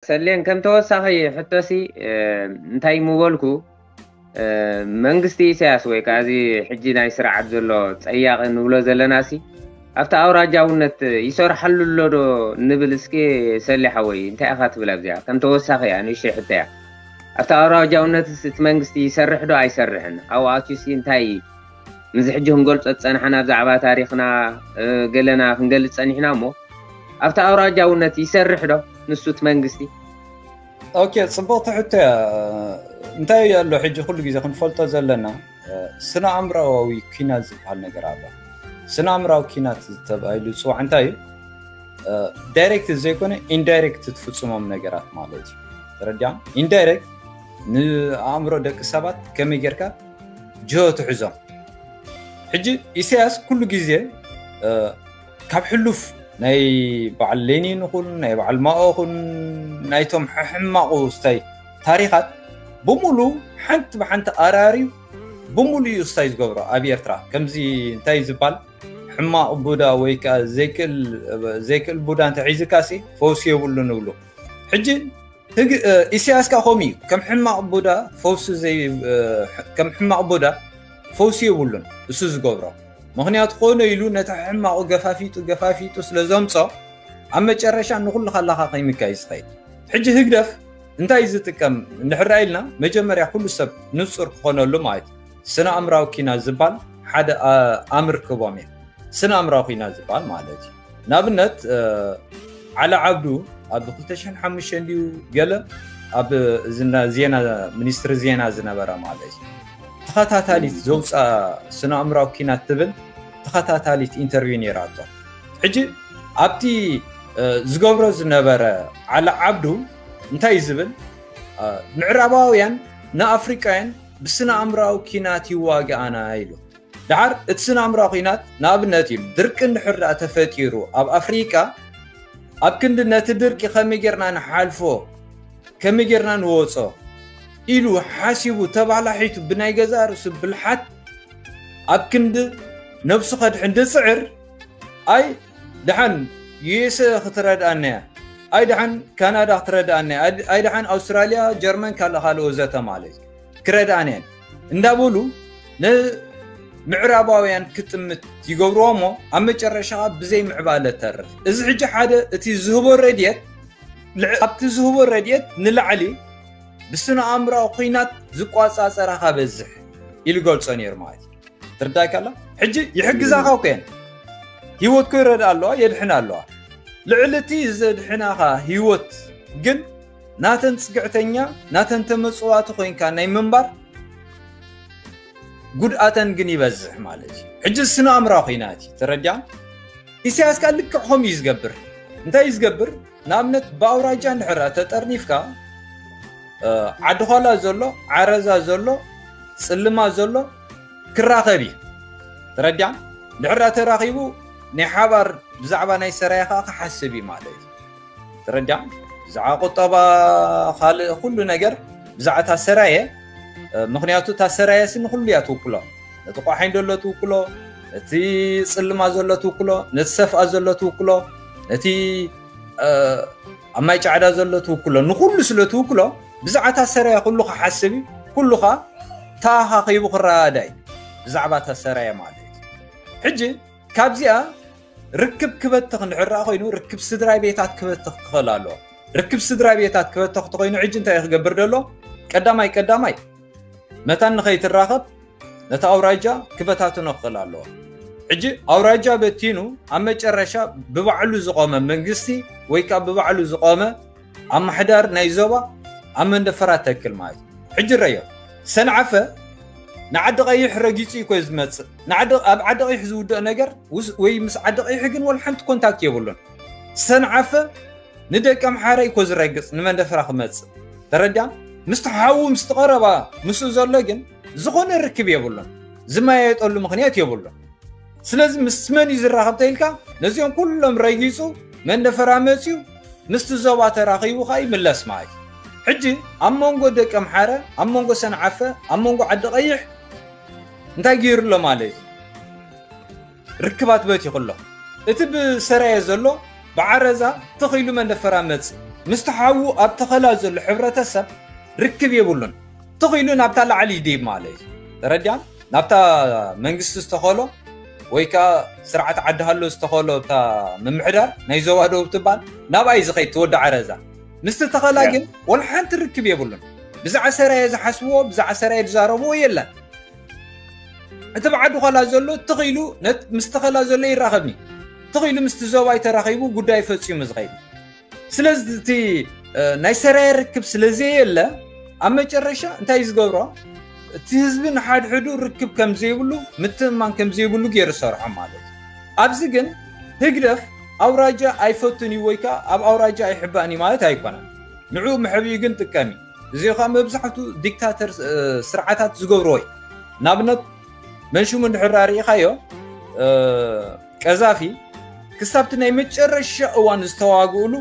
ተሌን ከም ተወሳኺ ሕቶሲ እንታይ ምበልኩ፣ መንግስቲ ኢሳያስ ወይ ከዓ እዚ ሕጂ ናይ ስርዓት ዘሎ ጸያቒ ንብሎ ዘለናሲ ኣብቲ ኣውራጃውነት ይሰርሓሉ ኣሎ ዶ ንብል? እስኪ ሰሌ ሓወይ እንታይ ኢኻ ትብል ኣብዚኣ? ከም ተወሳኺ እያ ንእሽተይ ሕቶ እያ። ኣብቲ ኣውራጃውነትስ እቲ መንግስቲ ይሰርሕ ዶ ኣይሰርሕን? ኣብኡ ኣትዩሲ እንታይ እዩ? ምስዚ ሕጂ ክንገልጾ ዝጸናሕና ብዛዕባ ታሪኽና ገለና ክንገልጽ ጸኒሕና እሞ ኣብቲ ኣውራጃውነት ይሰርሕ ዶ ንሱ እቲ መንግስቲ? ኦኬ፣ ጽቡቕቲ ሕቶ እያ። እንታይ ኣሎ ሕጂ ኩሉ ግዜ ክንፈልጦ ዘለና ስነ ኣእምራዊ ኪናት ዝበሃል ነገር ኣሎ። ስነ ኣእምራዊ ኪናት ተባሂሉ ዝፅዋዕ እንታይ እዩ? ዳይሬክት ዘይኮነ ኢንዳይሬክት ትፍፅሞም ነገራት ማለት እዩ። ተረዲያ? ኢንዳይሬክት ንኣእምሮ ደቂ ሰባት ከመይ ጌርካ ጅሆ ትሕዞም። ሕጂ ኢሳያስ ኩሉ ግዜ ካብ ሕሉፍ ናይ በዓል ሌኒን ይኹን ናይ በዓል ማኦ ይኹን ናይቶም ሕማቑ ስታይ ታሪኻት ብምሉ ሓንቲ ብሓንቲ ኣራርዩ ብምሉ እዩ ስታይ ዝገብሮ ኣብ ኤርትራ። ከምዚ እንታይ ዝበሃል ሕማቕ ቡዳ ወይ ከዓ ዘይክእል ቡዳ እንተሒዝካ ሲ ፈውሲ የብሉ ንብሉ። ሕጂ ኢሳያስ ከዓ ከምኡ እዩ። ከም ሕማቕ ቡዳ ፈውሲ ከም ሕማቕ ቡዳ ፈውሲ የብሉን እሱ ዝገብሮ። ምክንያቱ ኮነ ኢሉ ነቲ ሕማቑ ገፋፊጡ ገፋፊጡ ስለ ዘምጾ ኣብ መጨረሻ ንኩሉ ካላካ ከይምካ እዩ ዝኸይድ። ሕጂ ህግደፍ እንታይ ዝጥቀም እንድሕር ኢልና መጀመርያ ኩሉ ሰብ ንጹር ክኾነሉ ማለት እዩ። ስነ ኣእምራዊ ኪናት ዝበሃል ሓደ ኣምር ክቦም እየ። ስነ ኣእምራዊ ኪናት ዝበሃል ማለት እዩ። ንኣብነት ዓሊ ዓብዱ ኣብ ክልተ ሽሕን ሓሙሽተን ድዩ ገለ ኣብ ዜና ሚኒስትሪ ዜና ዝነበረ ማለት እዩ። ተኸታታሊት ዘውፅኣ ስነ ኣእምራዊ ኪናት ትብል ተኸታታሊት ኢንተርቪው ነይራቶ። ሕጂ ኣብቲ ዝገብሮ ዝነበረ ዓሊ ዓብዱ እንታይ ዝብል ምዕራባውያን ንኣፍሪቃውያን ብስነ ኣእምራዊ ኪናት ይዋግኣና ኢሉ። ደሓር እቲ ስነ ኣእምራዊ ኪናት ንኣብነት እዩ ድርቂ እንድሕር ደኣ ተፈጢሩ ኣብ ኣፍሪቃ ኣብ ክንዲ ነቲ ድርቂ ከመይ ጌርና ንሓልፎ ከመይ ጌርና ንወጾ ኢሉ ሓሲቡ ተባላሒቱ ብናይ ገዛ ርእሱ ብልሓት ኣብ ክንዲ ነብሱ ከድሕን ድጽዕር ኣይ ደሓን ዩኤስኤ ክትረድኣና እያ፣ ኣይ ደሓን ካናዳ ክትረድኣና እያ፣ ኣይ ደሓን ኣውስትራልያ፣ ጀርመን ካልእ ካልእ ወዘተ ማለት እዩ ክረድኣና እየን እንዳበሉ ንምዕራባውያን ክጥምት ይገብርዎ እሞ ኣብ መጨረሻ ብዘይ ምዕባለ ተርፍ። እዚ ሕጂ ሓደ እቲ ዝህቦ ረድኤት ኣብቲ ዝህቦ ረድኤት ንላዕሊ ብስነ ኣእምራዊ ኩናት ዝቋጻጸራ ካበዝሕ ኢሉ ገልጾ ነይሩ ማለት እዩ። ትርዳይ ካላ ሕጂ ይሕግዛኻ እኮ እየን። ህይወት እኮ ይረድኣ ኣለዋ፣ የድሕን ኣለዋ። ልዕሊ እቲ ዘድሕናኻ ህይወት ግን ናተን ጽግዕተኛ ናተን ተመጽዋቲ ኮይንካ ናይ ምንባር ጉድኣተን ግን ይበዝሕ ማለት እዩ። ሕጂ ስነ ኣእምራዊ ኩናት እዩ። ተረዲያ? ኢሳያስ ከኣ ልክዕ ከምኡ እዩ ዝገብር። እንታይ እዩ ዝገብር? ንኣብነት ብኣውራጃ እንድሕር ተጠርኒፍካ ዓዲ ኳላ ዘሎ፣ ዓረዛ ዘሎ፣ ጽልማ ዘሎ ክራኸብ እዩ። ተረዲያ? እንድሕር ተራኺቡ ናይ ሓባር ብዛዕባ ናይ ሰራየ ከዓ ክሓስብ እዩ ማለት እዩ። ተረዲያ? ብዛዕባ ቁጠባ ካልእ ኩሉ ነገር ብዛዕባ እታ ሰራየ ምክንያቱ እታ ሰራየ ሲ ንኩሉ እያ ትውክሎ። ነቲ ቆሓኝ ዘሎ ትውክሎ፣ ነቲ ጽልማ ዘሎ ትውክሎ፣ ነቲ ሰፍኣ ዘሎ ትውክሎ፣ ነቲ ኣብ ማይ ጫዕዳ ዘሎ ትውክሎ፣ ንኩሉ ስለ ትውክሎ ብዛዕባ እታ ሰራየ ኩሉ ክሓስብ እዩ። ኩሉ ከዓ ተኣኻኺቡ ክረዳዳእ እዩ ብዛዕባ እታ ሰራየ ማለት እዩ። ሕጂ ካብዚኣ ርክብ ክበትኽ እንድሕር ኮይኑ ርክብ ስድራ ቤታት ክበትኽ ክኽእል ኣለዎ። ርክብ ስድራ ቤታት ክበትኽ ተኮይኑ ሕጂ እንታይ ክገብር ደሎ? ቀዳማይ ቀዳማይ መታን ንኸይትራኸብ ነቲ ኣውራጃ ክበታትኖ ክኽእል ኣለዎ። ሕጂ ኣውራጃ በቲኑ ኣብ መጨረሻ ብባዕሉ ዝቆመ መንግስቲ ወይ ከዓ ብባዕሉ ዝቆመ ኣማሕዳር ናይ ዞባ ኣብ መንደፈራ ተክል ማለት እዩ። ሕጂ ረዮ ሰንዓፈ ንዓዲ ቀይሕ ረጊጹ እዩ ኮ ዝመጽእ። ንዓዲ ኣብ ዓዲ ቀይሕ ዝውደእ ነገር ውስ- ወይ ምስ ዓዲ ቀይሕ ግን ወላ ሓንቲ ኮንታክት የብሉን። ሰንዓፈ ንደቂ ኣምሓራ እዩ ኮ ዝረግጽ ንመንደፈራ ክመጽእ። ተረዲያ? ምስቲ ሓዉ ምስቲ ቀረባ ምስኡ ዘሎ ግን ዝኾነ ርክብ የብሉን። ዝመያየጠሉ ምኽንያት የብሉን። ስለዚ ምስ መን እዩ ዝራኸብ ተኢልካ ነዚኦም ኩሎም ረጊጹ መንደፈራ መጽዩ ምስቲ ዞባ ተራኺቡ ኸኣ ይምለስ ማለት እዩ። ሕጂ ኣብ መንጎ ደቂ ኣምሓረ ኣብ መንጎ ሰንዓፈ ኣብ መንጎ ዓዲ ቀይሕ እንታይ ገይሩ ኣሎ ማለት እዩ? ርክባት በቲኹ ኣሎ። እቲ ብሰራየ ዘሎ ብዓረዛ ትኽ ኢሉ መንደፈራ መጽእ። ምስቲ ሓዉ ኣብ ተኸላ ዘሎ ሕብረተሰብ ርክብ የብሉን። ትኽኢሉ ናብታ ላዕሊ ይድይብ ማለት እዩ። ተረዲኣን? ናብታ መንግስቲ ዝተኸሎ ወይ ከዓ ስርዓት ዓዲ ሃሎ ዝተኸሎ እታ ምምሕዳር ናይ ዞባ ደቡብ ትበሃል ናብኣ እዩ ዝኸይድ ትወዲ ዓረዛ። ምስቲ ተኸላ ግን ወላ ሓንቲ ርክብ የብሉን። ብዛዕባ ሰራየ ዝሓስብዎ፣ ብዛዕባ ሰራየ ዝዛረብዎ የለን። እቲ ብዓዲ ኸላ ዘሎ ትኽኢሉ ነት-፣ ምስ ተኸላ ዘሎ ይራኸብኒ። ትኽኢሉ ምስቲ ዞባይ ተራኺቡ ጉዳይ ፈጺሙ ዝኸይድ። ስለዚ እቲ፣ እ፣ ናይ ሰራየ ርክብ ስለ ዘየለ ኣብ መጨረሻ እንታይ እዩ ዝገብሮ? እቲ ህዝቢ ንሓድሕዱ ርክብ ከም ዘይብሉ፣ ምትእምማን ከም ዘይብሉ ገይሩ ዝሰርሖ ማለት እዩ። ኣብዚ ግን ህግደፍ ኣውራጃ ኣይፈቱን እዩ ወይ ከዓ ኣብ ኣውራጃ ኣይሕባእን እዩ ማለት ኣይኮነን። ንዕኡ መሕብኢ ግን ጥቀም እዩ። እዚ ከዓ መብዛሕቱ ዲክታተር፣ እ፣ ስርዓታት ዝገብርዎ እዩ። ንኣብነት መንሽሙ እንድሕር ርኢኻዮ፣ እ፣ ቀዛፊ ክሳብቲ ናይ መጨረሻ እዋን ዝተዋግእሉ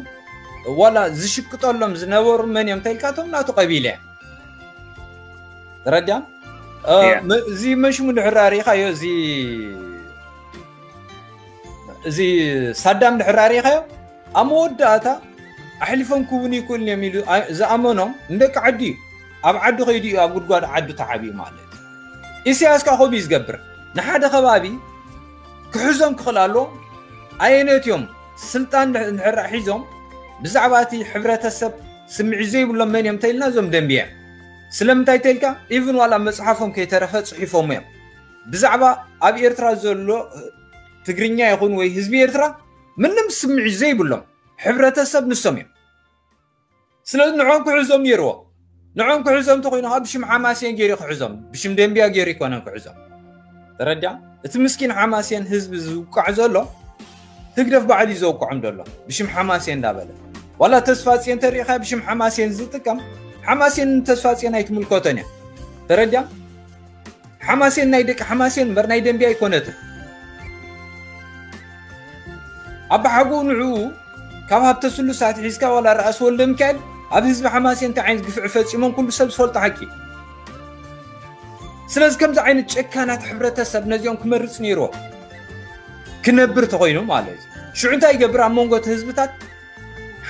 ዋላ ዝሽቅጠሎም ዝነበሩ መን እዮም ተልካቶም ናቱ ቀቢለ እዮም። ተረዲኣን? እ፣ Yeah. መ-፣ እዚ መንሽሙ እንድሕር ርኢኻዮ፣ እዚ፣ እዚ ሳዳም እንድሕር ርኢኻዮ፣ ኣብ መወዳእታ ኣሕሊፎም ክቡን ይክእሉን እዮም ኢሉ ኣ-፣ ዝኣመኖም ንደቂ ዓዲ እዩ። ኣብ ዓዲ ከይዱ እዩ ኣብ ጉድጓድ ዓዱ ተዓብዩ ማለት እዩ። ኢሳያስ ከዓ ከምኡ እዩ ዝገብር። ንሓደ ከባቢ ክሕዞም ክኽእል ኣለዎ። ኣየነት እዮም ስልጣን እንድሕር ሒዞም ብዛዕባ እቲ ሕብረተሰብ ስምዒት ዘይብሎም መን እዮም ተይልና እዞም ደንብያ። ስለምንታይ ተይልካ ኢቭን ዋላ መፅሓፎም ከይተረፈ ፅሒፎም እዮም። ብዛዕባ ኣብ ኤርትራ ዘሎ ትግርኛ ይኹን ወይ ህዝቢ ኤርትራ ምንም ስምዒት ዘይብሎም ሕብረተሰብ ንሶም እዮም። ስለዚ ንዖም ክሕዞም ነይርዎ። ንዖም ክሕዞም እንተኮይኑ ከዓ ብሽም ሓማሴን ገይሩ ክሕዞም፣ ብሽም ደንብያ ገይሩ ይኮነን ክሕዞም። ተረዲኣ? እቲ ምስኪን ሓማሴን ህዝቢ ዝውቃዕ ዘሎ ህግደፍ ባዕሉ እዩ ዘውቅዖም ዘሎ ብሽም ሓማሴን እንዳበለ። ዋላ ተስፋጽዮን ተሪኢኻ ብሽም ሓማሴን ዝጥቀም፣ ሓማሴን ንተስፋጽዮን ኣይትምልከቶን እያ። ተረዲኣ? ሓማሴን ናይ ደቂ ሓማሴን እምበር ናይ ደንብያ ኣይኮነትን። ኣባሓጎኡ ንዕኡ ካብ ሃብተ ስሉስ ኣትሒዝካ ዋላ ርኣስ ወልደ ሚካኤል ኣብ ህዝቢ ሓማሴን እንታይ ዓይነት ግፍዒ ፈጺሞም ኩሉ ሰብ ዝፈልጦ ሓቂ። ስለዚ ከምዚ ዓይነት ጨካናት ሕብረተሰብ ነዚኦም ክመርጽ ነይርዎ ክነብር ተኾይኑ ማለት እዩ። ሽዑ እንታይ ይገብር? ኣብ መንጎ እቲ ህዝብታት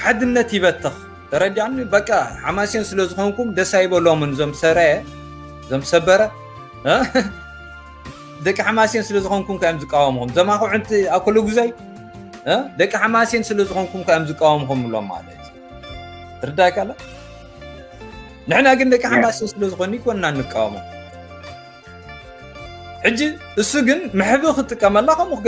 ሓድነት ይበትኽ። ተረዲኣኒ? በቃ ሓማሴን ስለ ዝኾንኩም ደስ ኣይበሎምን እዞም ሰረየ፣ እዞም ሰበረ፣ እ? ደቂ ሓማሴን ስለ ዝኾንኩም ከ እዮም ዝቃወምኹም። እዞም ኣኹዕንቲ ኣኮለጉዛይ፣ እ? ደቂ ሓማሴን ስለ ዝኾንኩም ከ እዮም ዝቃወምኹም ብሎም ማለት እዩ። ትርዳእካ ኣላ? ንሕና ግን ደቂ ሓማሴን ስለ ዝኾኑ ይኮንና ንቃወሞም። ሕጂ እሱ ግን መሕብኢ ክጥቀመላ ከምኡ ክገብር